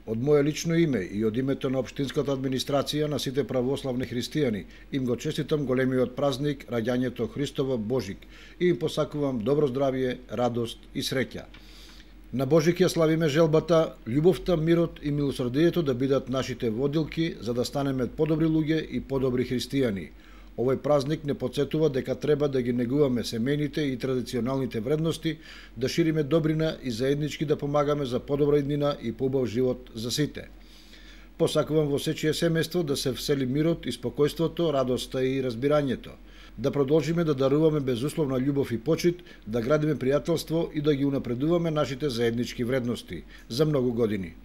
Од моје лично име и од името на општинската администрација на сите православни христијани им го честитам големиот празник раѓањето Христово Божик и им посакувам добро здравје, радост и среќа. На Божик ја славиме желбата, љубовта, мирот и милосрдието да бидат нашите водилки за да станеме подобри луѓе и подобри христијани. Овој празник не потсетува дека треба да ги негуваме семејните и традиционалните вредности, да шириме добрина и заеднички да помагаме за подобра иднина и поубав живот за сите. Посакувам во сечие семејство да се всели мирот и спокојството, радоста и разбирањето. Да продолжиме да даруваме безусловна љубов и почит, да градиме пријателство и да ги унапредуваме нашите заеднички вредности за многу години.